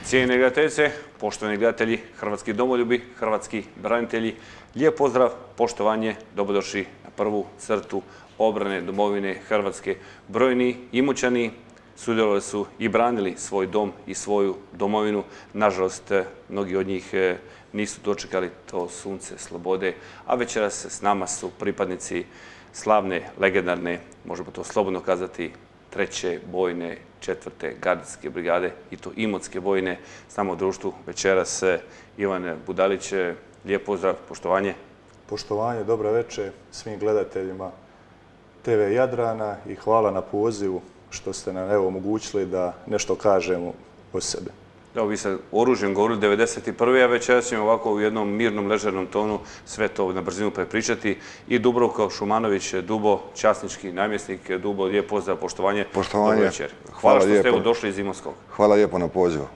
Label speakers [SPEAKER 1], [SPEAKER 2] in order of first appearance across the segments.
[SPEAKER 1] Cijenjene gledateljice, poštovani gledatelji, hrvatski domoljubi, hrvatski branitelji, lijep pozdrav, poštovanje, dobrodošli na prvu crtu obrane domovine Hrvatske. Brojni Imoćani sudjelovali su i branili svoj dom i svoju domovinu. Nažalost, mnogi od njih nisu dočekali to sunce slobode, a večeras s nama su pripadnici slavne, legendarne, možemo to slobodno kazati, 3. bojne 4. gardijske brigade i to Imotske bojne. S nama u društvu večeras Ivan Budalić. Lijep pozdrav, poštovanje.
[SPEAKER 2] Poštovanje, dobra večer svim gledateljima TV Jadrana i hvala na pozivu što ste nam omogućili da nešto kažemo o sebi.
[SPEAKER 1] Evo, vi ste oružjem govorili 1991. a večeras ćemo ovako u jednom mirnom, ležernom tonu sve to na brzinu prepričati. I Dubravko Šumanović, Dubo, časnički namjesnik. Dubo, lijep pozdrav, poštovanje.
[SPEAKER 3] Poštovanje.
[SPEAKER 1] Dobro večer. Hvala što ste došli iz Imotskog.
[SPEAKER 3] Hvala lijepo na pozivu.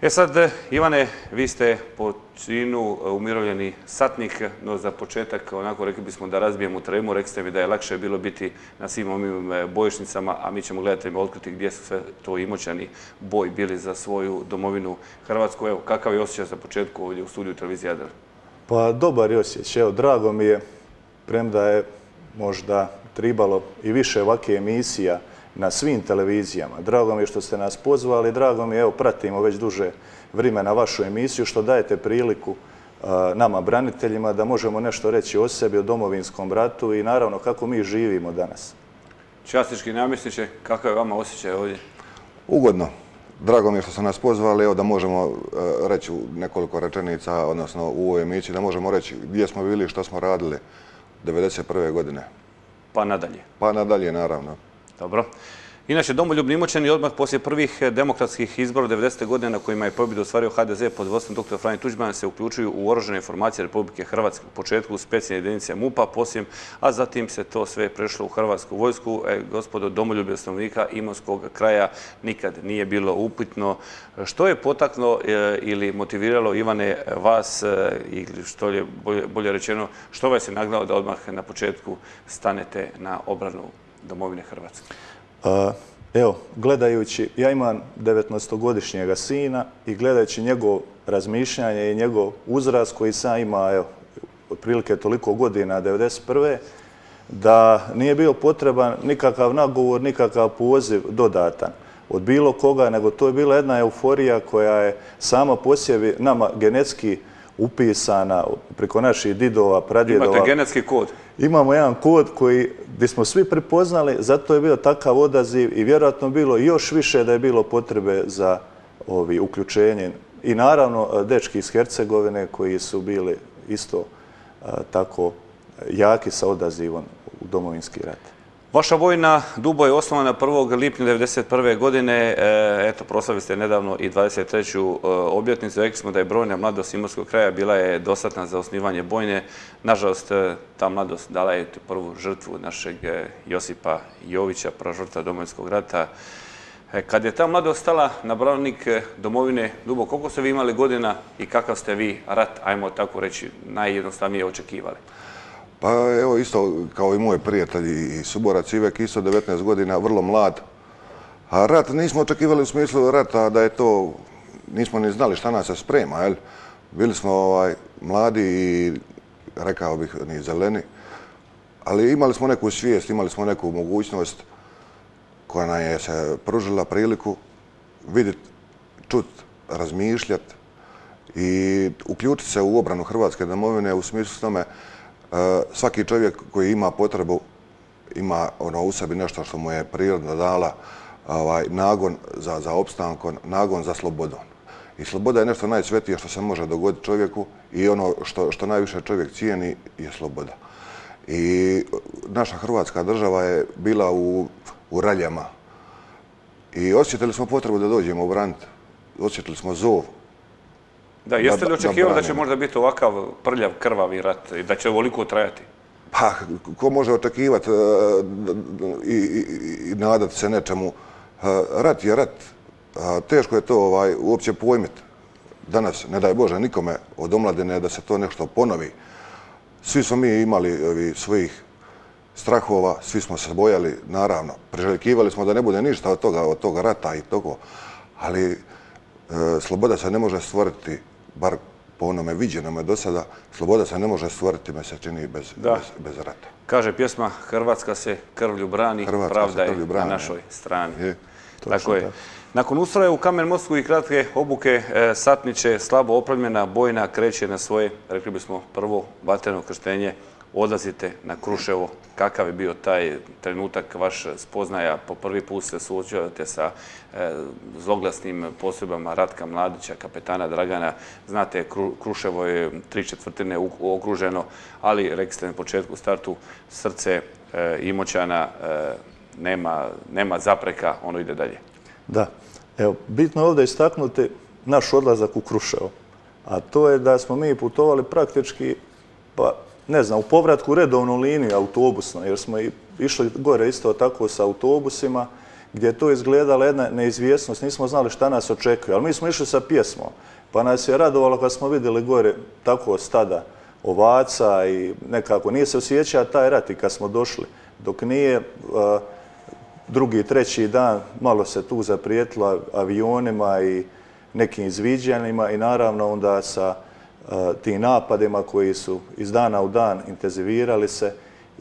[SPEAKER 1] Sad, Ivane, vi ste po činu umirovljeni satnik, no za početak, onako rekli bismo da razbijemo tremu, rekli ste mi da je lakše bilo biti na svim ovim bojišnicama, a mi ćemo gledateljima otkriti gdje su sve to Imoćani boj bili za svoju domovinu Hrvatsku. Evo, kakav je osjećaj za početku ovdje u studiju televizije Jadran?
[SPEAKER 2] Pa dobar je osjećaj, evo, drago mi je, premda je možda tribalo i više ovakve emisija na svim televizijama. Drago mi je što ste nas pozvali, drago mi je, evo, pratimo već duže vremena vašu emisiju, što dajete priliku nama, braniteljima, da možemo nešto reći o sebi, o Domovinskom ratu i naravno kako mi živimo danas.
[SPEAKER 1] Časnički namjesniče, kakav je vama osjećaj ovdje?
[SPEAKER 3] Ugodno. Drago mi je što ste nas pozvali, evo da možemo reći nekoliko rečenica, odnosno u ovoj emisiji, da možemo reći gdje smo bili i što smo radili 1991. godine.
[SPEAKER 1] Pa nadalje.
[SPEAKER 3] Pa nadalje, naravno.
[SPEAKER 1] Dobro. Inače, domoljubni Imoćani odmah poslije prvih demokratskih izbora 90. godine na kojima je pobjedu ostvario HDZ pod vodstvom dr. Franje Tuđmana se uključuju u oružane formacije Republike Hrvatske. U početku specijalne jedinice MUP-a, poslije, a zatim se to sve prešlo u Hrvatsku vojsku. Gospodo, domoljublje stanovnika Imotskog kraja nikad nije bilo upitno. Što je potaklo ili motiviralo, Ivane, vas, ili što je bolje rečeno, što vas je nagnalo da odmah na početku stanete na obranu domovine Hrvatske?
[SPEAKER 2] Evo, gledajući, ja imam 19-godišnjega sina i gledajući njegov razmišljanje i njegov uzrast koji sam ima, evo, otprilike toliko godina, 1991. da nije bio potreban nikakav nagovor, nikakav poziv dodatan od bilo koga, nego to je bila jedna euforija koja je sama po sebi nama genetski upisana preko naših didova, pradjedova.
[SPEAKER 1] Imate genetski kod?
[SPEAKER 2] Imamo jedan kod gdje smo svi prepoznali, zato je bio takav odaziv i vjerojatno bilo još više da je bilo potrebe za uključenje. I naravno dečki iz Hercegovine koji su bili isto tako jaki sa odazivom u Domovinski rat.
[SPEAKER 1] Vaša vojna Dubo je osnovana 1. lipnja 1991. godine. Eto, proslavili ste nedavno i 23. obljetnicu. Rekli smo da je brojna mladost Imotskog kraja bila je dostatna za osnivanje bojne. Nažalost, ta mladost dala je prvu žrtvu našeg Josipa Jovića, prva žrtva Domovinskog rata. Kad je ta mladost stala na branik domovine Dubo, koliko ste vi imali godina i kakav ste vi rat, ajmo tako reći, najjednostavnije očekivali?
[SPEAKER 3] Pa evo isto kao i moj prijatelj i suborac Ivek, isto 19 godina, vrlo mlad. A rat nismo očekivali u smislu rata da je to, nismo ni znali šta nas se sprema, jel? Bili smo mladi i rekao bih ni zeleni, ali imali smo neku svijest, imali smo neku mogućnost koja nam je se pružila priliku vidjeti, čut, razmišljati i uključiti se u obranu Hrvatske domovine u smislu tome. Svaki čovjek koji ima potrebu, ima u sebi nešto što mu je priroda dala, nagon za opstankom, nagon za slobodom. I sloboda je nešto najsvetije što se može dogoditi čovjeku i ono što najviše čovjek cijeni je sloboda. I naša Hrvatska država je bila u raljama i osjetili smo potrebu da dođemo u brand, osjetili smo zov.
[SPEAKER 1] Da, jeste li očekivali da će možda biti ovakav prljav, krvavi rat i da će ovoliko trajati?
[SPEAKER 3] Pa, ko može očekivati i nadati se nečemu? Rat je rat. Teško je to uopće pojmiti. Danas, ne daj Bože, nikome od omladine da se to nešto ponovi. Svi smo mi imali svojih strahova, svi smo se bojali, naravno. Priželjkivali smo da ne bude ništa od toga rata i toga. Ali sloboda se ne može stvoriti, bar po onome viđenome do sada, sloboda se ne može stvoriti, me se čini, bez rata.
[SPEAKER 1] Kaže pjesma, Hrvatska se krvlju brani, pravda je na našoj strani. Tako je. Nakon ustroja u Kamen Mostu i kratke obuke, satniče, slabo opremljena bojna kreće na svoje, rekli bismo, prvo vatreno krštenje. Odlazite na Kruševo. Kakav je bio taj trenutak, vaš spoznaja? Po prvi put se suočavate sa zloglasnim postrojbama Ratka Mladića, kapetana Dragana. Znate, Kruševo je 3/4 okruženo, ali rekli ste na početku startu, srce Imoćana nema zapreka, ono ide dalje.
[SPEAKER 2] Da. Evo, bitno je ovdje istaknuti naš odlazak u Kruševo. A to je da smo mi putovali praktički, pa ne znam, u povratku redovnu liniju autobusno, jer smo išli gore isto tako sa autobusima, gdje je to izgledala jedna neizvjesnost, nismo znali šta nas očekuje, ali mi smo išli sa pjesmom, pa nas je radovalo kad smo vidjeli gore tako stada ovaca i nekako nije se osjećao taj rat i kad smo došli, dok nije drugi, treći dan malo se tu zaprijetilo avionima i nekim izviđanjima i naravno onda sa tim napadima koji su iz dana u dan intenzivirali se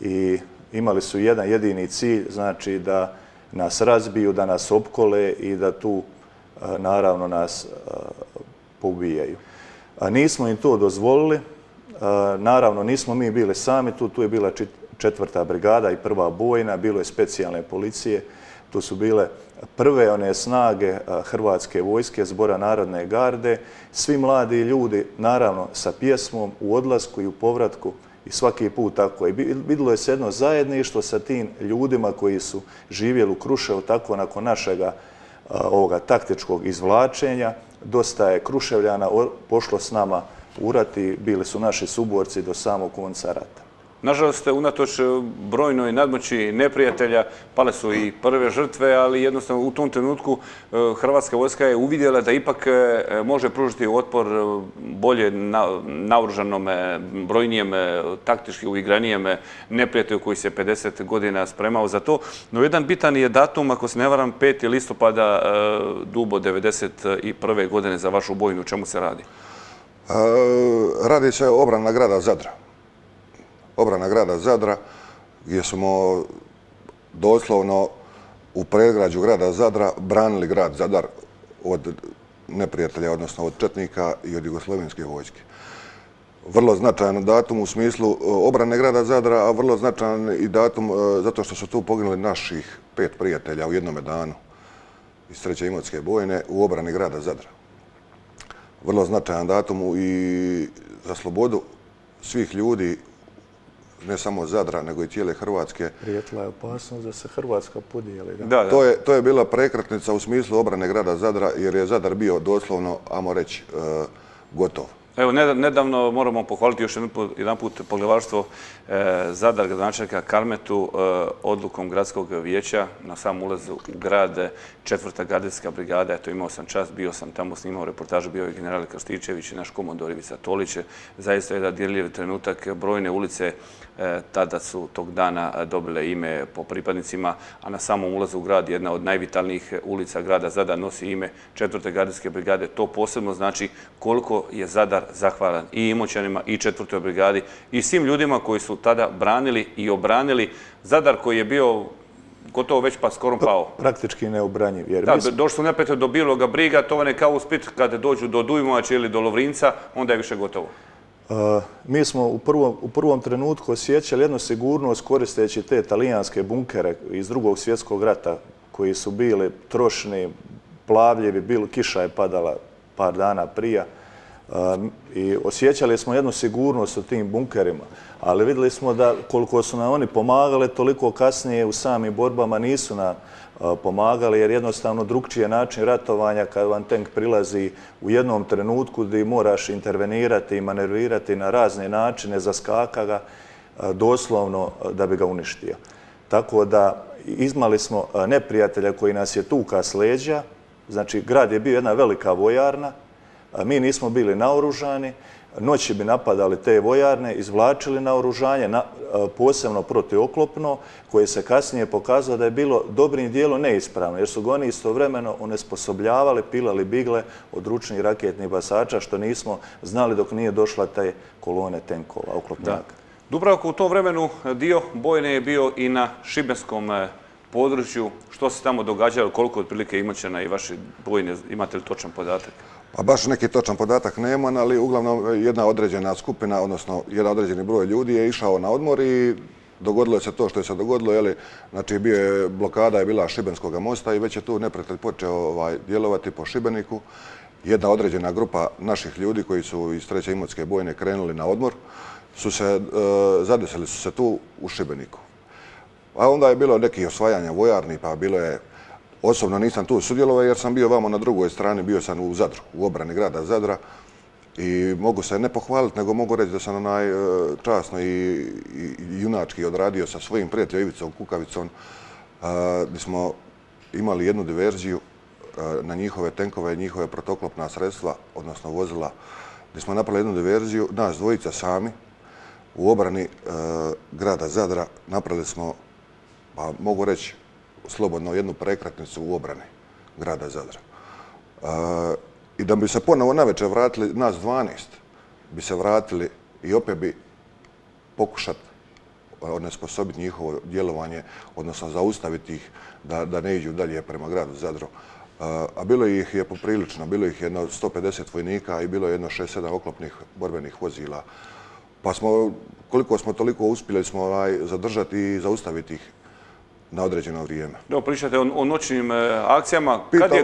[SPEAKER 2] i imali su jedan jedini cilj, znači da nas razbiju, da nas opkole i da tu naravno nas poubijaju. Nismo im to dozvolili, naravno nismo mi bili sami, tu je bila 4. brigada i 1. bojna, bilo je specijalne policije, tu su bile prve one snage Hrvatske vojske, Zbora narodne garde, svi mladi ljudi, naravno, sa pjesmom u odlasku i u povratku i svaki put tako. I vidjelo je se jedno zajedništvo sa tim ljudima koji su živjeli u Kruševu, tako nakon našega ovoga taktičkog izvlačenja. Dosta je Kruševljana pošlo s nama u rat i bili su naši suborci do samog konca rata.
[SPEAKER 1] Nažalost, unatoč brojnoj nadmoći neprijatelja, pale su i prve žrtve, ali jednostavno u tom trenutku Hrvatska vojska je uvidjela da ipak može pružiti otpor bolje naoružanom, brojnijem, taktički uigranijem neprijatelju koji se 50 godina spremao za to. No jedan bitan je datum, ako se ne varam, 5. listopada Dubo 1991. godine za vašu bojnu. O čemu se radi?
[SPEAKER 3] Radi se o obrana grada Zadra. Obrana grada Zadra, gdje smo doslovno u predgrađu grada Zadra branili grad Zadar od neprijatelja, odnosno od četnika i od jugoslovenske vojske. Vrlo značajan datum u smislu obrane grada Zadra, a vrlo značajan i datum zato što su tu poginuli naših 5 prijatelja u jednome danu iz 3. Imotske bojne u obrani grada Zadra. Vrlo značajan datum i za slobodu svih ljudi, ne samo Zadra, nego i cijele Hrvatske.
[SPEAKER 2] Prijetila je opasnost da se Hrvatska podijeli.
[SPEAKER 3] To je bila prekretnica u smislu obrane grada Zadra, jer je Zadar bio doslovno, ajmo reći, gotov.
[SPEAKER 1] Evo, nedavno moramo pohvaliti još jedan put poglavarstvo Zadar, gradonačelnika Kalmetu, odlukom gradskog vijeća na sam ulaz u grad 4. gardijska brigada. Eto, imao sam čast, bio sam tamo, snimao reportažu, bio je general Krstičević i naš komandor Ivica Tolić. Zaista je jedan dirljiv trenutak, brojne ulice tada su tog dana dobile ime po pripadnicima, a na samom ulazu u grad jedna od najvitalnijih ulica grada Zadar nosi ime 4. gardijske brigade. To posebno znači koliko je Zadar zahvalan i Imoćanima i 4. brigadi i svim ljudima koji su tada branili i obranili Zadar koji je bio gotovo već pa skoro pao.
[SPEAKER 2] Praktički neobranjiv.
[SPEAKER 1] Da, došli su neprijatelji do Bijeloga Briga, to vam je kao u Split kada dođu do Dujmovača ili do Lovrinca, onda je više gotovo.
[SPEAKER 2] Mi smo u prvom trenutku osjećali jednu sigurnost koristeći te talijanske bunkere iz Drugog svjetskog rata koji su bili trošni, plavljivi, kiša je padala par dana prije i osjećali smo jednu sigurnost u tim bunkerima, ali vidjeli smo da koliko su nam oni pomagali, toliko kasnije u samim borbama nisu nam pomagali, jer jednostavno drugčiji je način ratovanja kad vam tank prilazi u jednom trenutku gdje moraš intervenirati i manevirati na razne načine, zaskaka ga doslovno da bi ga uništio. Tako da imali smo neprijatelja koji nas je tuka s leđa, znači grad je bio jedna velika vojarna, mi nismo bili naoružani, noći bi napadali te vojarne, izvlačili naoružanje, posebno protivoklopno, koje se kasnije pokazalo da je bilo dobrim dijelom neispravno, jer su ga oni istovremeno onesposobljavali, pilali bigle od ručnih raketnih basača, što nismo znali dok nije došla te kolone tenkova, oklopnjaka.
[SPEAKER 1] Dubravko, u tom vremenu dio bojne je bio i na šibenskom području. Što se tamo događalo, koliko otprilike Imoćana i vaši bojne, imate li točan podatak?
[SPEAKER 3] Pa baš neki točan podatak nemam, ali uglavnom jedna određena skupina, odnosno jedan određeni broj ljudi je išao na odmor i dogodilo se to što je se dogodilo. Znači, blokada je bila Šibenskog mosta i već je tu neprijatelj počeo djelovati po Šibeniku. Jedna određena grupa naših ljudi koji su iz 3. Imotske bojne krenuli na odmor, zadesili su se tu u Šibeniku. A onda je bilo nekih osvajanja vojarni, pa bilo je, osobno nisam tu sudjelovao jer sam bio vamo na drugoj strani, bio sam u Zadru, u obrani grada Zadra i mogu se ne pohvaliti, nego mogu reći da sam časno i junački odradio sa svojim prijateljom Ivicom Kukavicom, gdje smo imali jednu diverziju na njihove tenkove, njihove protoklopna sredstva, odnosno vozila, gdje smo napravili jednu diverziju, nas dvojica sami, u obrani grada Zadra napravili smo, pa mogu reći, slobodno jednu prekretnicu u obrani grada Zadra. I da bi se ponovo navečer vratili, nas 12 bi se vratili i opet bi pokušati onesposobiti njihovo djelovanje, odnosno zaustaviti ih da ne iđu dalje prema gradu Zadru. A bilo ih je poprilično, bilo ih jedno 150 vojnika i bilo je jedno 6-7 oklopnih borbenih vozila. Pa smo, koliko smo toliko uspjeli smo zadržati i zaustaviti ih na određeno vrijeme.
[SPEAKER 1] Evo, pričate o noćnim akcijama.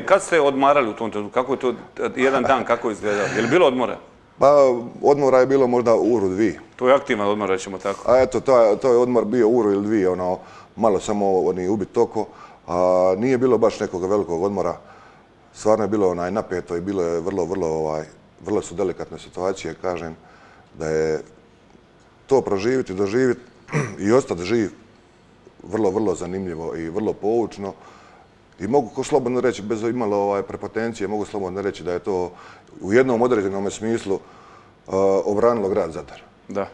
[SPEAKER 1] Kad ste odmarali u tom trenutku? Kako je to jedan dan, kako je izgledao? Je li bilo odmora?
[SPEAKER 3] Pa, odmora je bilo možda uru, dvije.
[SPEAKER 1] To je aktivan odmor, rećemo tako.
[SPEAKER 3] A eto, to je odmor bio uru ili dvije, malo samo ubit oko. Nije bilo baš nekog velikog odmora. Stvarno je bilo napeto i bilo je vrlo su delikatne situacije, kažem, da je to proživjeti, doživjeti i ostati živ vrlo zanimljivo i vrlo poučno. I mogu slobodno reći, bez imalo prepotencije, mogu slobodno reći da je to u jednom određenom smislu obranilo grad Zadar.
[SPEAKER 1] Da.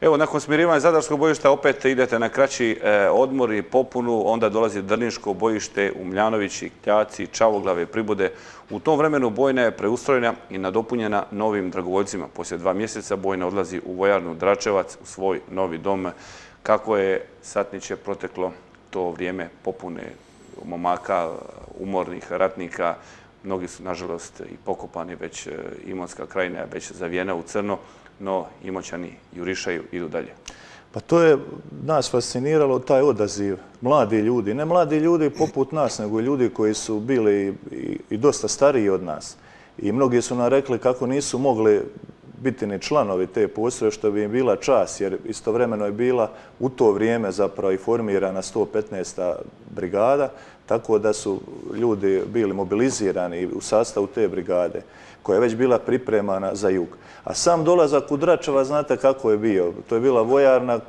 [SPEAKER 1] Evo, nakon smirivanja Zadarskog bojišta opet idete na kraći odmor i popunu, onda dolazi Drniško bojište, Umljanovići, Kljaci, Čavoglave, Pribude. U tom vremenu bojna je preustrojena i nadopunjena novim dragovoljcima. Poslije 2 mjeseca bojna odlazi u vojarnu Dračevac, u svoj novi dom. Kako je, satniče, proteklo to vrijeme popune momaka, umornih ratnika? Mnogi su, nažalost, i pokopani, već Imotska krajina je već zavijena u crno, no Imoćani jurišaju, idu dalje.
[SPEAKER 2] Pa to je nas fasciniralo, taj odaziv. Mladi ljudi, ne mladi ljudi poput nas, nego ljudi koji su bili i dosta stariji od nas. I mnogi su nam rekli kako nisu mogli biti ni članovi te postrojbe, što bi im bila čast, jer istovremeno je bila u to vrijeme zapravo i formirana 115. brigada, tako da su ljudi bili mobilizirani u sastavu te brigade, koja je već bila pripremana za jug. A sam dolazak u Dračevac, znate kako je bio. To je bila vojarna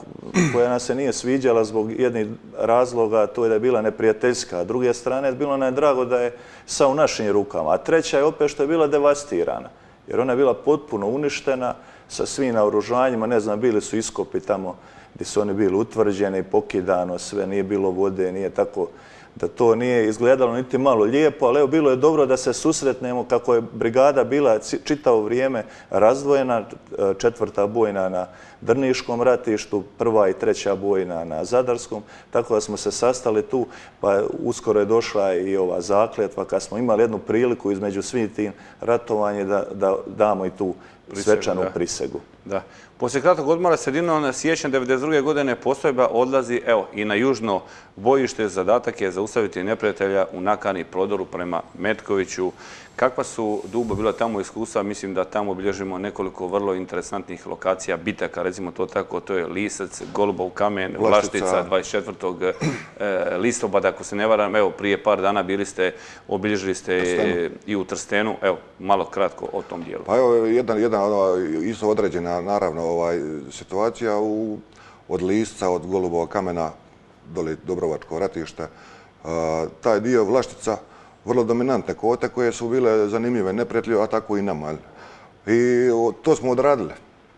[SPEAKER 2] koja nas se nije sviđala zbog jednih razloga, to je da je bila neprijateljska. A s druge strane, bilo nam je drago da je sa u našim rukama. A treća je opet što je bila devastirana, jer ona je bila potpuno uništena sa svim naoružanjima. Ne znam, bili su iskopi tamo gdje su oni bili utvrđeni, pokidano sve, nije bilo vode, nije tako da to nije izgledalo niti malo lijepo, ali evo, bilo je dobro da se susretnemo kako je brigada bila čitavo vrijeme razdvojena, 4. bojna na Drniškom ratištu, 1. i 3. bojna na Zadarskom, tako da smo se sastali tu, pa uskoro je došla i ova zakletva, kad smo imali jednu priliku između svih tim ratovanja da damo i tu svečanu prisegu.
[SPEAKER 1] Da. Poslije kratkog odmora sredinom siječnja 1992. godine postrojba odlazi i na južno bojište. Zadatak je zaustaviti neprijatelja u nakani prodoru prema Metkoviću. Kakva su dubo bila tamo iskustva? Mislim da tamo obilježimo nekoliko vrlo interesantnih lokacija, bitaka, recimo to tako, to je Lisac, Golubov kamen, Vlaštica, 24. listopada, ako se ne varam. Evo, prije par dana obilježili ste i u Trstenu. Evo, malo kratko o tom dijelu.
[SPEAKER 3] Pa evo, jedna isto određena, naravno, situacija od Lisca, od Golubova kamena, dole Dobrovačko ratište. Taj dio Vlaštica, vrlo dominantne kote koje su bile zanimljive neprijatelju, a tako i nama. I to smo odradili.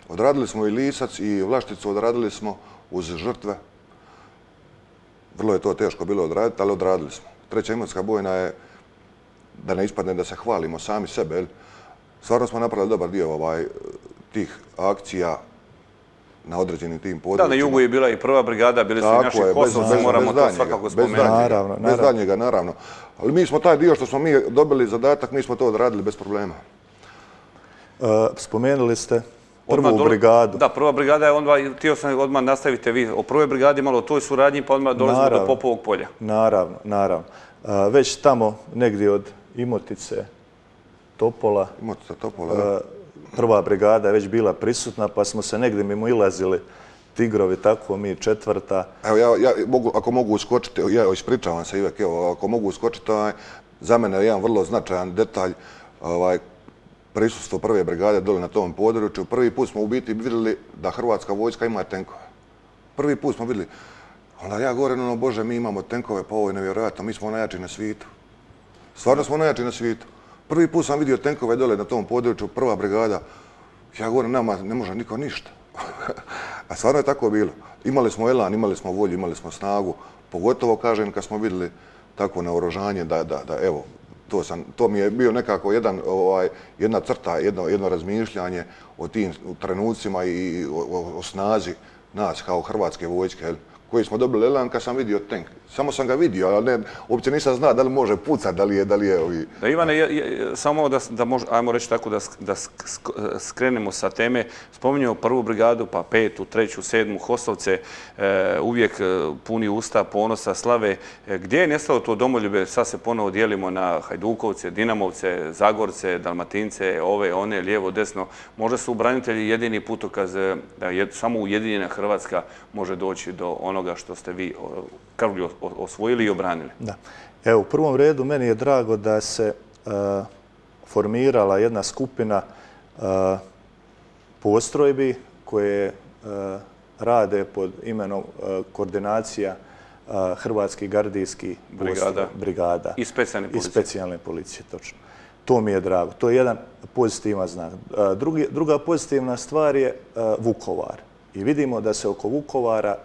[SPEAKER 3] Odradili smo i Lisac i Vlašticu, odradili smo uz žrtve. Vrlo je to teško bilo odraditi, ali odradili smo. Treća Imotska bojna je, da ne ispadne da se hvalimo sami sebe, stvarno smo napravili dobar dio tih akcija na određenim tim područjima.
[SPEAKER 1] Da, na jugu je bila i prva brigada, bili su i naši Kosovci, moramo to svakako spomenuti.
[SPEAKER 3] Bez daljnjega, naravno. Ali mi smo taj dio što smo mi dobili zadatak, mi smo to odradili bez problema.
[SPEAKER 2] Spomenuli ste prvu brigadu.
[SPEAKER 1] Da, prva brigada je onda, htio sam odmah nastavite vi o prvoj brigadi, malo o toj suradnji, pa odmah dolazimo do Popovog polja.
[SPEAKER 2] Naravno. Već tamo negdje od Imotice, Topola, prva brigada je već bila prisutna, pa smo se negdje mimo ilazili Tigrovi, tako mi četvrta.
[SPEAKER 3] Evo, ja ako mogu uskočiti, ja ispričavam se Ivek, evo, ako mogu uskočiti, za mene je jedan vrlo značajan detalj, prisustvo prve brigade dole na tom području. Prvi put smo u biti vidjeli da hrvatska vojska ima tenkove. Prvi put smo vidjeli. Onda ja govorim, Bože, mi imamo tenkove, pa ovo je nevjerojatno, mi smo najjači na svijetu. Stvarno smo najjači na svijetu. Prvi put sam vidio tenkove dole na tom području, prva brigada. Ja govorim, nama ne može niko ništa. A stvarno je tako bilo. Imali smo elan, imali smo volju, imali smo snagu. Pogotovo, kažem, kad smo vidjeli takvo naoružanje da evo, to mi je bio nekako jedna crta, jedno razmišljanje o tim trenucima i o snazi nas kao hrvatske vojske, koji smo dobili elan kad sam vidio tank. Samo sam ga vidio, ali uopće nisam znao da li može pucati, da li je ovi...
[SPEAKER 1] Da, Ivane, samo da ajmo reći tako da skrenemo sa teme, spominjamo prvu brigadu, pa petu, treću, sedmu, Hostovce, uvijek puni usta, ponosa, slave. Gdje je nestalo to domoljublje? Sad se ponovo dijelimo na Hajdukovce, Dinamovce, Zagorce, Dalmatince, ove, one, lijevo, desno. Možda su branitelji jedini putokaz da samo ujedinjena Hrvatska može doći do onoga što ste vi krvlju osvojili i obranili.
[SPEAKER 2] Da. Evo, u prvom redu meni je drago da se formirala jedna skupina postrojbi koje rade pod imenom koordinacija Hrvatskih gardijskih brigada.
[SPEAKER 1] I specijalne policije.
[SPEAKER 2] I specijalne policije, točno. To mi je drago. To je jedan pozitivan znak. Druga pozitivna stvar je Vukovar. I vidimo da se oko Vukovara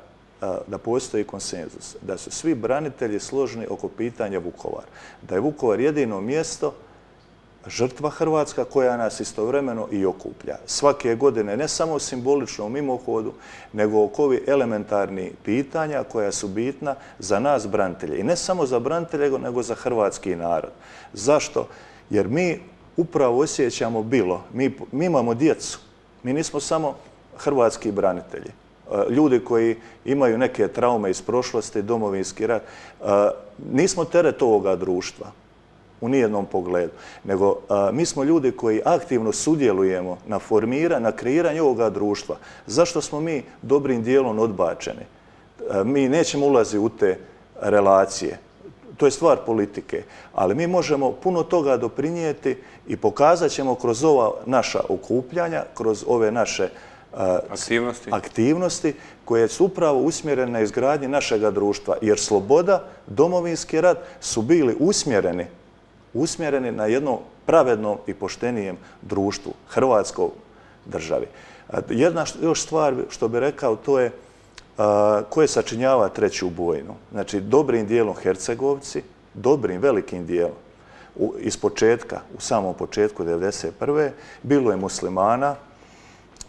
[SPEAKER 2] da postoji konsenzus, da su svi branitelji složni oko pitanja Vukovara. Da je Vukovar jedino mjesto, žrtva Hrvatska koja nas istovremeno i okuplja. Svake godine, ne samo simbolično u mimohodu, nego oko ovih elementarnih pitanja koja su bitna za nas branitelje. I ne samo za branitelje, nego za hrvatski narod. Zašto? Jer mi upravo osjećamo bilo. Mi imamo djecu. Mi nismo samo hrvatski branitelji. Ljudi koji imaju neke traume iz prošlosti, domovinski rat. Nismo teret ovoga društva u nijednom pogledu, nego mi smo ljudi koji aktivno sudjelujemo na kreiranju ovoga društva. Zašto smo mi dobrim dijelom odbačeni? Mi nećemo ulaziti u te relacije. To je stvar politike, ali mi možemo puno toga doprinijeti i pokazat ćemo kroz ova naša okupljanja, kroz ove naše aktivnosti koje su upravo usmjerene na izgradnji našega društva. Jer sloboda, domovinski rat su bili usmjereni na jednom pravednom i poštenijem društvu, Hrvatskoj državi. Jedna još stvar što bih rekao, to je koje sačinjava treću bojnu. Znači, dobrim dijelom Hercegovci, dobrim, velikim dijelom. Iz početka, u samom početku 1991. bilo je muslimana,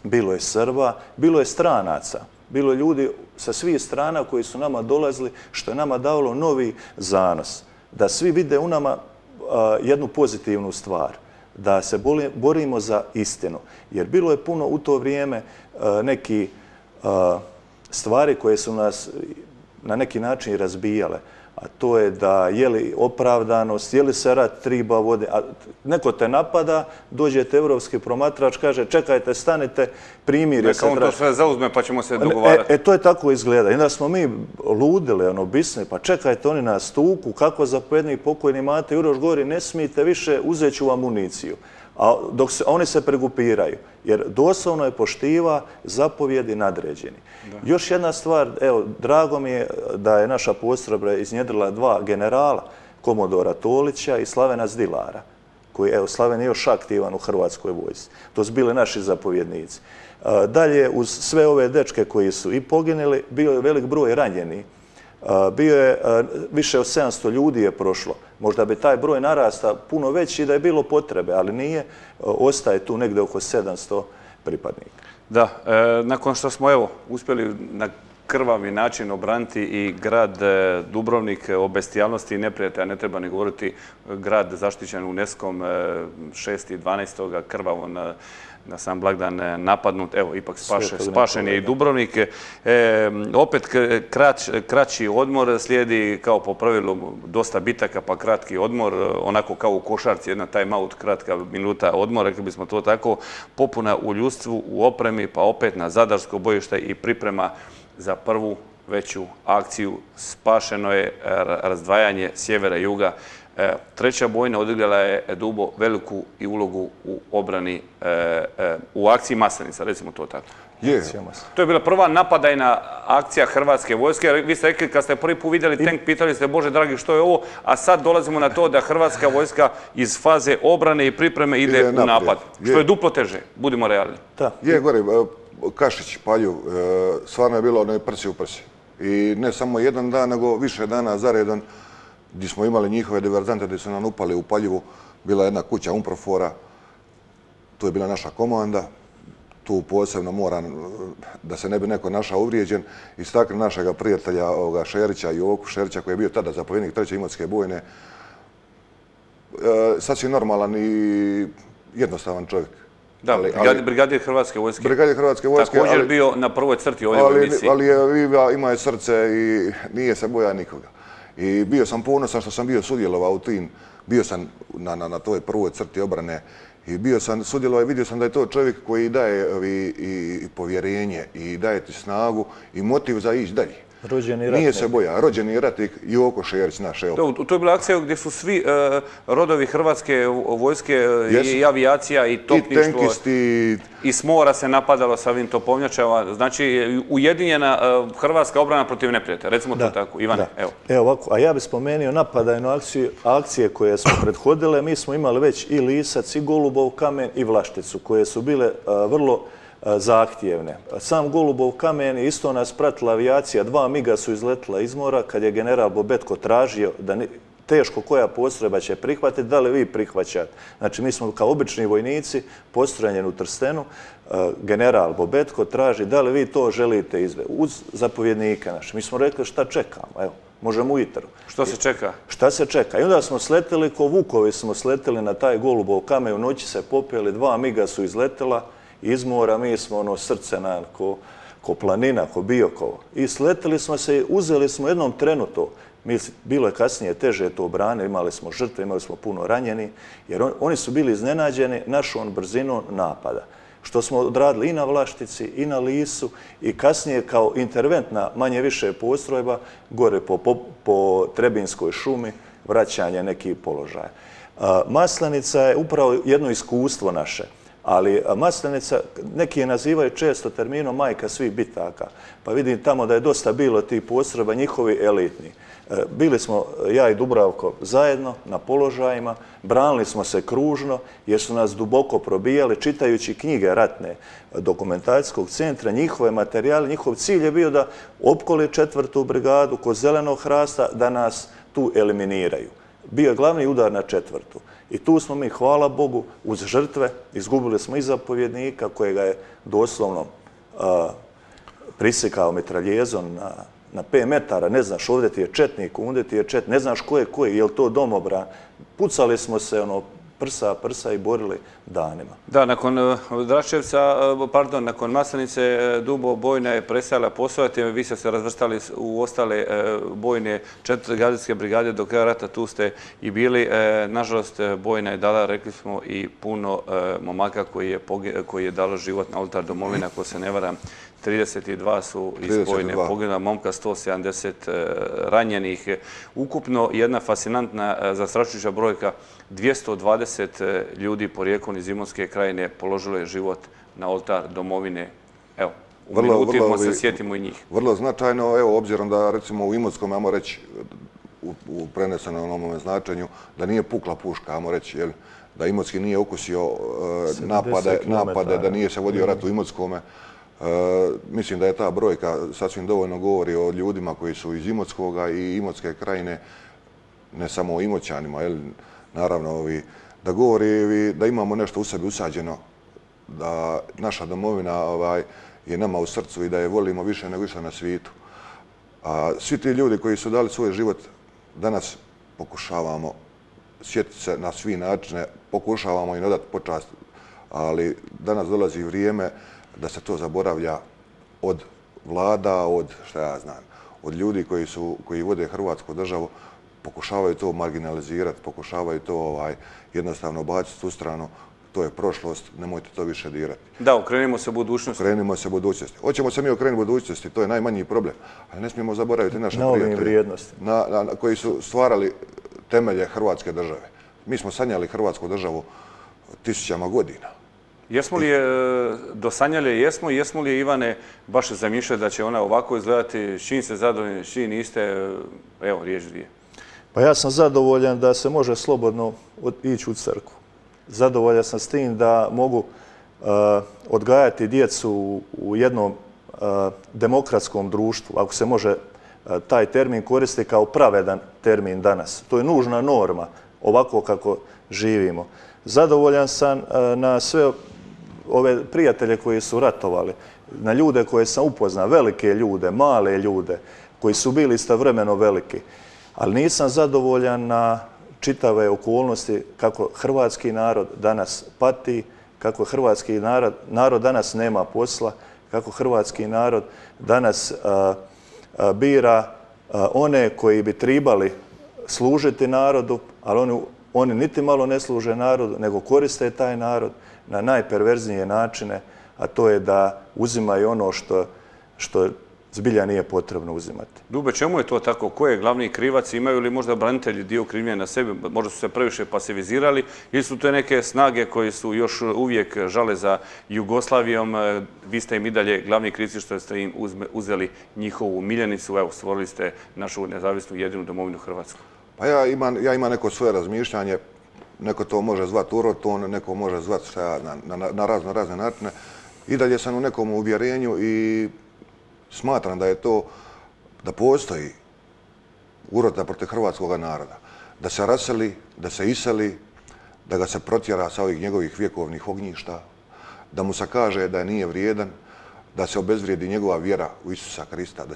[SPEAKER 2] bilo je Srba, bilo je stranaca, bilo je ljudi sa svih strana koji su nama dolazili, što je nama davalo novi zanos. Da svi vide u nama jednu pozitivnu stvar, da se borimo za istinu. Jer bilo je puno u to vrijeme neki stvari koje su nas na neki način razbijale. A to je da je li opravdanost, je li se rat triba vode, a neko te napada, dođete evropski promatrač, kaže čekajte, stanite, primirje se.
[SPEAKER 1] Neka on to sve zauzme pa ćemo se dogovarati.
[SPEAKER 2] To je tako izgleda. I onda smo mi ludili, bisni, pa čekajte, oni nas tuku, kako zapovjednik pokojni Mate Juroš govori, ne smijete više, uzet ću vam municiju. A dok oni se pregupiraju, jer doslovno je poštiva zapovjedi nadređeni. Još jedna stvar, evo, drago mi je da je naša postrojba iznjedrila 2 generala, Komodora Tolića i Slavena Zdilara. koji, evo, Slaven je još aktivan u Hrvatskoj vojsci. To su bili naši zapovjednici. Dalje, uz sve ove dečke koji su i poginuli, bio je velik broj ranjenih. Bio je, više od 700 ljudi je prošlo. Možda bi taj broj narasta puno veći da je bilo potrebe, ali nije. Ostaje tu negdje oko 700 pripadnika.
[SPEAKER 1] Da, nakon što smo evo uspjeli na krvavi način obraniti i grad Dubrovnik o bestijalnosti i neprijatelja, ne treba ni govoriti, grad zaštićen UNESCO-om 6.12. krvavo na sam blagdan napadnut, evo ipak spašen je i Dubrovnik. Opet kraći odmor slijedi kao po pravilu dosta bitaka pa kratki odmor, onako kao u košarci, jedna time out, kratka minuta odmor, rekli bismo to tako, popuna u ljudstvu, u opremi, pa opet na zadarsko bojište i priprema za prvu veću akciju. Spašeno je razdvajanje sjevera i juga. Treća bojna odigrala je Dubo veliku i ulogu u obrani, u akciji Maslenica, recimo to tako. To je bila prva napadajna akcija Hrvatske vojske. Vi ste rekli, kad ste prvi put vidjeli tank, pitali ste, Bože dragi, što je ovo? A sad dolazimo na to da Hrvatska vojska iz faze obrane i pripreme ide u napad. Što je duplo teže, budimo realni.
[SPEAKER 3] Je, gore, Kašić, Palju, stvarno je bilo ne prsi u prsi. I ne samo jedan dan, nego više dana zaredan, gdje smo imali njihove diverzante, gdje su nam upali u Paljivu. Bila jedna kuća Umprofora, tu je bila naša komanda. Tu posebno moram, da se ne bi neko našao uvrijeđen, istaknuti našega prijatelja Šerića, Joku Šerića, koji je bio tada zapovjednik 3. Imotske bojne. Sasvim normalan i jednostavan čovjek.
[SPEAKER 1] Da, brigadir Hrvatske vojske.
[SPEAKER 3] Brigadir Hrvatske vojske.
[SPEAKER 1] Također bio na prvoj crti ovdje u emisiji.
[SPEAKER 3] Ali ima je srce i nije se boja nikoga. I bio sam ponosan što sam bio sudjelovao u tim, bio sam na toj prvoj crti obrane i bio sam sudjelovao i vidio sam da je to čovjek koji daje i povjerenje i daje ti snagu i motiv za ići dalje.
[SPEAKER 2] Rođeni ratnik.
[SPEAKER 3] Nije se boja, rođeni ratnik Joko Šerić, naš.
[SPEAKER 1] To je bila akcija gdje su svi rodovi Hrvatske vojske i avijacija i topništvo.
[SPEAKER 3] I tenkisti.
[SPEAKER 1] I s mora se napadalo sa ovim topovnjačama. Znači, ujedinjena hrvatska obrana protiv neprijatelja. Recimo to tako. Ivane, evo.
[SPEAKER 2] Evo ovako, a ja bih spomenuo napadajnu akcije koje smo prethodile. Mi smo imali već i Lisac, i Golubov kamen, i Vlašticu, koje su bile vrlo zahtjevne. Sam Golubov kamen, isto nas pratila avijacija, 2 miga su izletila iz mora kad je general Bobetko tražio da teško koja postrojba će prihvatiti, da li vi prihvaćate. Znači, mi smo kao obični vojnici postranjeni u Trstenu, general Bobetko traži da li vi to želite izvesti uz zapovjednika naše. Mi smo rekli šta čekamo, evo, možemo ujutro.
[SPEAKER 1] Što se čeka? Šta
[SPEAKER 2] se čeka? I onda smo sletili, ko vukovi smo sletili na taj Golubov kamen, u noći se popeli, 2 miga su izletila iz mora, mi smo srce ko planina, ko Biokovo. I sletili smo se i uzeli smo jednom trenu to. Bilo je kasnije teže to obrane, imali smo žrtve, imali smo puno ranjeni, jer oni su bili iznenađeni našom brzinom napada. Što smo odradili i na Vlaštici, i na Lisu, i kasnije kao interventna manje više postrojba, gore po Trebinskoj šumi, vraćanje nekih položaja. Maslenica je upravo jedno iskustvo naše. Ali Maslenica, neki je nazivaju često terminom majka svih bitaka. Pa vidim tamo da je dosta bilo tih postrojba, njihovi elitni. Bili smo, ja i Dubravko, zajedno na položajima, branili smo se kružno jer su nas duboko probijali, čitajući knjige ratne dokumentacijskog centra, njihove materijale. Njihov cilj je bio da opkoli 4. brigadu kod Zelenog hrasta, da nas tu eliminiraju. Bio je glavni udar na 4. I tu smo mi, hvala Bogu, uz žrtve, izgubili smo i zapovjednika kojega je doslovno prisekao mitraljezom na 5 metara. Ne znaš, ovdje ti je četnik, ovdje ti je četnik, ne znaš ko je koji, je li to domobran. Pucali smo se prsa i borili danima.
[SPEAKER 1] Da, nakon Draščevca, pardon, nakon Maslenice, Dubo bojna je prestajala postojati, vi ste se razvrstali u ostale bojne 4. gardijske brigade do kraja rata, tu ste i bili. Nažalost, bojna je dala, rekli smo, i puno momaka koji je dalo život na oltar domovine, ako se ne varam. 32 su iz bojne poginula, momka 170 ranjenih. Ukupno jedna fascinantna, zastrašujuća brojka, 220 ljudi porijeklom iz Imotske krajine položilo je život na oltar domovine. Evo, u minutima se sjetimo i njih.
[SPEAKER 3] Vrlo značajno, evo, obzirom da recimo u Imotskom, ajmo reći, u prenesenom onome značenju, da nije pukla puška, ajmo reći, jel? Da Imotski nije okusio napade, da nije se vodio rat u Imotskome. Mislim da je ta brojka sasvim dovoljno govori o ljudima koji su iz Imotskoga i Imotske krajine, ne samo o Imoćanima, jel? Naravno, da govori da imamo nešto u sebi usađeno, da naša domovina je nama u srcu i da je volimo više nego išta na svijetu. A svi ti ljudi koji su dali svoj život, danas pokušavamo sjetiti se na svi načine, pokušavamo im odati počast, ali danas dolazi vrijeme da se to zaboravlja od vlada, od, šta ja znam, od ljudi koji vode Hrvatsku državu, pokušavaju to marginalizirati, pokušavaju to jednostavno baciti u stranu. To je prošlost, nemojte to više dirati.
[SPEAKER 1] Da, okrenimo se budućnosti.
[SPEAKER 3] Okrenimo se budućnosti. Hoćemo se mi okrenuti budućnosti, to je najmanji problem. Ali ne smijemo zaboraviti naše
[SPEAKER 2] prijatelje
[SPEAKER 3] vrijednosti koji su stvarali temelje Hrvatske države. Mi smo sanjali Hrvatsku državu tisućama godina.
[SPEAKER 1] Jesmo li je dosanjali? Jesmo li je, Ivane, baš zamišljali da će ona ovako izgledati? S čim ste zadovoljni, s čim niste? Evo, riječ dvije.
[SPEAKER 2] Pa ja sam zadovoljan da se može slobodno ići u crkvu. Zadovoljan sam s tim da mogu odgajati djecu u jednom demokratskom društvu, ako se može taj termin koristiti kao pravedan termin danas. To je nužna norma, ovako kako živimo. Zadovoljan sam na sve ove prijatelje koji su ratovali, na ljude koje sam upoznao, velike ljude, male ljude, koji su bili istovremeno veliki. Ali nisam zadovoljan na čitave okolnosti kako hrvatski narod danas pati, kako hrvatski narod danas nema posla, kako hrvatski narod danas bira one koji bi trebali služiti narodu, ali oni niti malo ne služe narodu, nego koriste taj narod na najperverznije načine, a to je da uzimaju ono što zbilja nije potrebno uzimati.
[SPEAKER 1] Dube, čemu je to tako? Ko je glavni krivac? Imaju li možda branitelji dio krivnje na sebi? Možda su se previše pasivizirali ili su to neke snage koji su još uvijek žale za Jugoslavijom? Vi ste im i dalje glavni krivci što ste im uzeli njihovu miljenicu. Evo, stvorili ste našu nezavisnu jedinu domovinu Hrvatsku.
[SPEAKER 3] Pa ja imam neko svoje razmišljanje. Neko to može zvati uroton, neko može zvati na razne načine. I dalje sam u nekom uvjerenju i smatram da je to, da postoji urota protiv hrvatskog naroda. Da se raseli, da se iseli, da ga se protjera sa ovih njegovih vjekovnih ognjišta, da mu se kaže da nije vrijedan, da se obezvrijedi njegova vjera u Isusa Krista,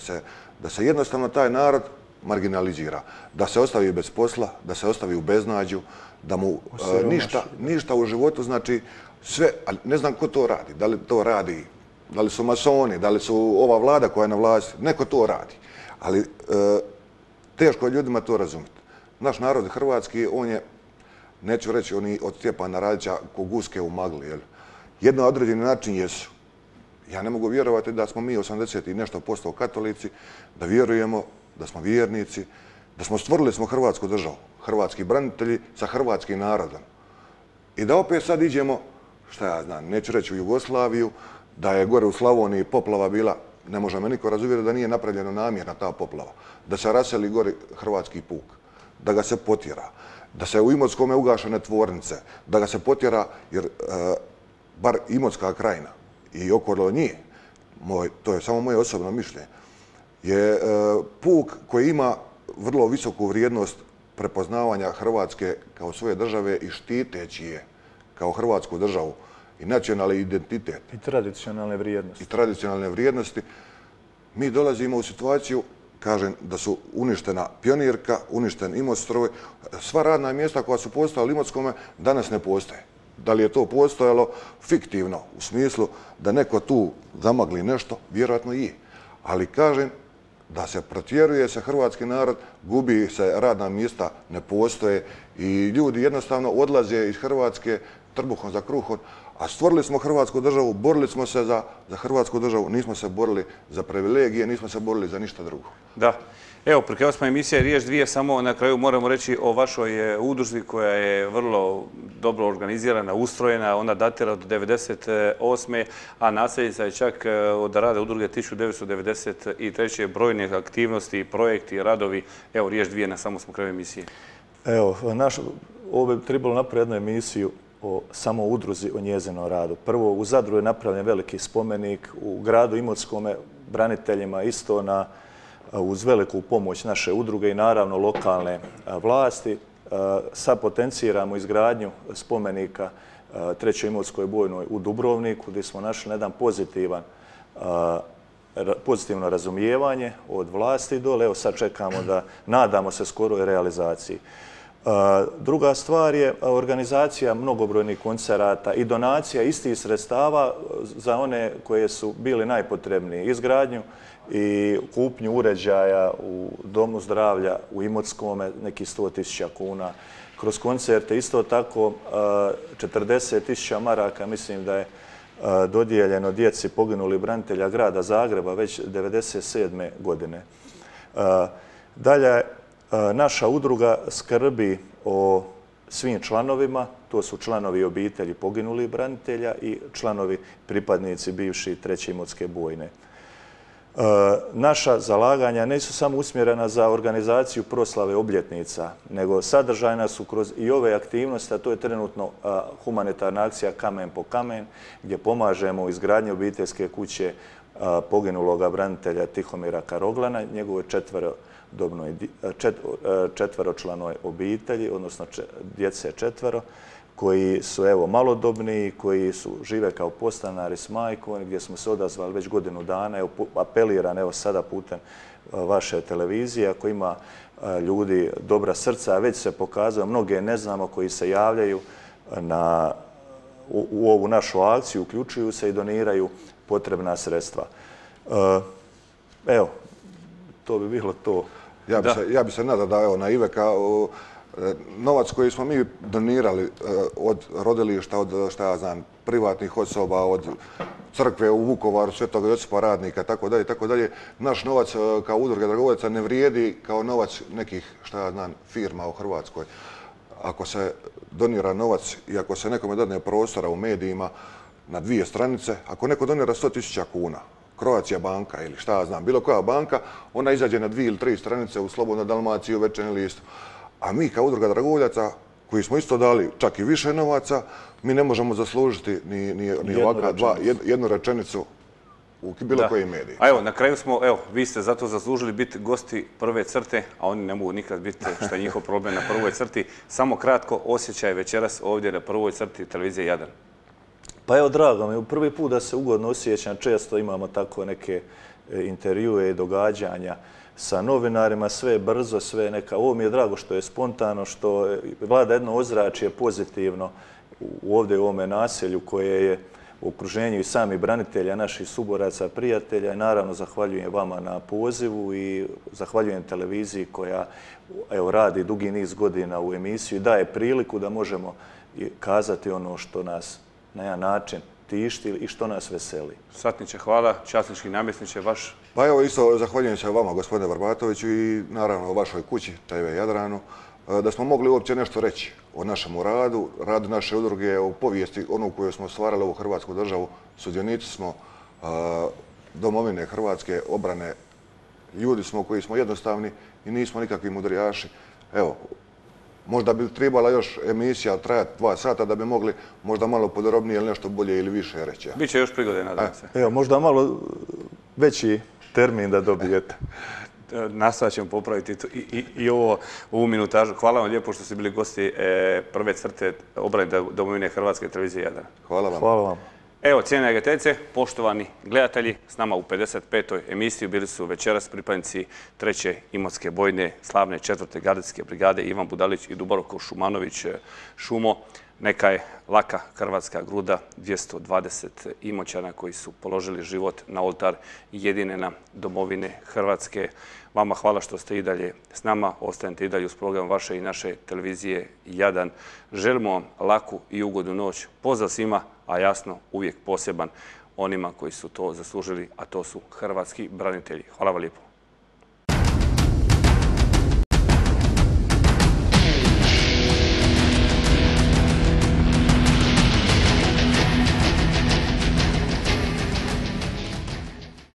[SPEAKER 3] da se jednostavno taj narod marginalizira, da se ostavi bez posla, da se ostavi u beznađu, da mu ništa u životu, znači sve, ali ne znam ko to radi, da li to radi, da li su masoni, da li su ova vlada koja je na vlasti, neko to radi. Ali teško je ljudima to razumjeti. Naš narod hrvatski, on je, neću reći oni od Stjepana Radića ko guske u magli, jedno određeni način jesu. Ja ne mogu vjerovati da smo mi 80 i nešto posto katolici, da vjerujemo, da smo vjernici, da smo stvorili Hrvatsku državu, hrvatski branitelji sa hrvatskim narodom. I da opet sad iđemo, šta ja znam, neću reći u Jugoslaviju, da je gore u Slavoniji poplava bila, ne može me niko razuvjeriti da nije napravljena namjerna ta poplava, da se raseli gore hrvatski puk, da ga se potjera, da se u Imotskome ugašene tvornice, da ga se potjera, jer bar Imotska krajina i okolo nje, to je samo moje osobno mišljenje, je puk koji ima vrlo visoku vrijednost prepoznavanja Hrvatske kao svoje države i štiteći je kao Hrvatsku državu i nacionalni identitet.
[SPEAKER 2] I tradicionalne vrijednosti.
[SPEAKER 3] I tradicionalne vrijednosti. Mi dolazimo u situaciju, kažem, da su uništena Pionirka, uništen Imotstroj, sva radna mjesta koja su postojala u Imotskome danas ne postoje. Da li je to postojalo fiktivno, u smislu da neko tu zamagli nešto, vjerojatno i je. Ali kažem, da se protjeruje se hrvatski narod, gubi se radna mjesta, ne postoje i ljudi jednostavno odlaze iz Hrvatske trbuhom za kruhom, a stvorili smo Hrvatsku državu, borili smo se za Hrvatsku državu, nismo se borili za privilegije, nismo se borili za ništa drugo.
[SPEAKER 1] Da. Evo, pri kraju smo emisije Riječ dvije, samo na kraju moramo reći o vašoj udruzi koja je vrlo dobro organizirana, ustrojena, ona datira od 1998. a nasljednica je čak od rada udruge 1993. brojne aktivnosti, projekti, radovi. Evo, Riječ dvije, na samo smo kraju emisije.
[SPEAKER 2] Evo, ovo bi trebalo napraviti jednu emisiju o samo udruzi, o njezinom radu. Prvo, u Zadru je napravljen veliki spomenik, u gradu Imotskome braniteljima isto uz veliku pomoć naše udruge i naravno lokalne vlasti. Sad potenciramo izgradnju spomenika Trećoj Imotskoj bojnoj u Dubrovniku, gdje smo našli jedan pozitivno razumijevanje od vlasti dole. Evo sad čekamo da, nadamo se skoroj realizaciji. Druga stvar je organizacija mnogobrojnih koncerata i donacija istih sredstava za one koje su bili najpotrebniji. Izgradnju i kupnju uređaja u Domu zdravlja u Imotskome, neki 100.000 kuna. Kroz koncerte isto tako 40.000 maraka, mislim da je dodijeljeno djeci poginulih branitelja grada Zagreba već 1997. godine. Dalje, naša udruga skrbi o svim članovima, to su članovi obitelji poginulih branitelja i članovi pripadnici bivši Treće Imotske bojne. Naša zalaganja nisu samo usmjerena za organizaciju proslave obljetnica, nego sadržajna su kroz i ove aktivnosti, a to je trenutno humanitarna akcija Kamen po kamen, gdje pomažemo u izgradnji obiteljske kuće poginuloga branitelja Tihomira Karoglana, njegove četveročlanoj obitelji, odnosno djece četvero, koji su evo malodobni, koji žive kao podstanari s majkom, gdje smo se odazvali već godinu dana. Evo, apeliram evo sada putem vaše televizije, ako ima ljudi dobra srca, već se pokazuje, mnoge ne znamo koji se javljaju u ovu našu akciju, uključuju se i doniraju potrebna sredstva. Evo, to bi bilo to.
[SPEAKER 3] Ja bi se nadao da evo na Iveka novac koji smo mi donirali od rodilišta, od šta ja znam, privatnih osoba, od crkve u Vukovaru, Svetog Josipa Radnika, tako dalje, naš novac kao udruge dragovoljaca ne vrijedi kao novac nekih, šta ja znam, firma u Hrvatskoj. Ako se donira novac i ako se nekome dadne prostora u medijima na 2 stranice, ako neko donira 100.000 kuna, Croatia banka ili šta ja znam, bilo koja banka, ona izađe na 2 ili 3 stranice u Slobodnoj Dalmaciji, u Večernji list. A mi kao udruga dragovoljaca, koji smo isto dali čak i više novaca, mi ne možemo zaslužiti ni ovakva jednu rečenicu u bilo koji mediji.
[SPEAKER 1] A evo, na kraju smo, evo, vi ste zato zaslužili biti gosti prve crte, a oni ne mogu nikad biti što je njihov problem na prvoj crti. Samo kratko osjećaj večeras ovdje na prvoj crti televizije Jadran.
[SPEAKER 2] Pa evo, drago mi, prvi put da se ugodno osjećam, često imamo tako neke intervjue i događanja sa novinarima, sve je brzo, sve je neka... Ovo mi je drago što je spontano, što vlada jedno ozračje pozitivno ovdje u ovome naselju koje je u okruženju i sami branitelja, naših suboraca, prijatelja i naravno zahvaljujem vama na pozivu i zahvaljujem televiziji koja radi dugi niz godina u emisiju i daje priliku da možemo kazati ono što nas na jedan način tišti i što nas veseli.
[SPEAKER 1] Satniče, hvala. Časnički namjesniče, vaš...
[SPEAKER 3] Pa evo isto zahvaljujem se vama, gospodine Barbatoviću, i naravno o vašoj kući, TV Jadranu, da smo mogli uopće nešto reći o našemu radu, radu naše udruge, o povijesti, onu koju smo stvarali ovu Hrvatsku državu. Sudionici smo domovine Hrvatske, obrane. Ljudi smo koji smo jednostavni i nismo nikakvi mudrijaši. Evo, možda bi trebala još emisija trajati 2 sata da bi mogli možda malo podrobnije ili nešto bolje ili više reći.
[SPEAKER 1] Biće još prigode, nadam se.
[SPEAKER 2] Evo, možda malo veći termin da dobijete.
[SPEAKER 1] Nastavit ćemo popraviti i ovu minutažu. Hvala vam lijepo što ste bili gosti prve crte obrane domovine Hrvatske televizije Jadran.
[SPEAKER 3] Hvala vam.
[SPEAKER 2] Hvala vam.
[SPEAKER 1] Evo, cijene gledateljice, poštovani gledatelji, s nama u 55. emisiji bili su večeras pripadnici 3. Imotske bojne, slavne 4. gardijske brigade Ivan Budalić i Dubravko Šumanović Šumo. Neka je laka hrvatska gruda 220 Imoćana koji su položili život na oltar jedine nam domovine Hrvatske. Vama hvala što ste i dalje s nama, ostanete i dalje uz program vaše i naše televizije Jadran. Želimo vam laku i ugodnu noć. Pozdrav svima, a jasno uvijek poseban onima koji su to zaslužili, a to su hrvatski branitelji. Hvala vam lijepo.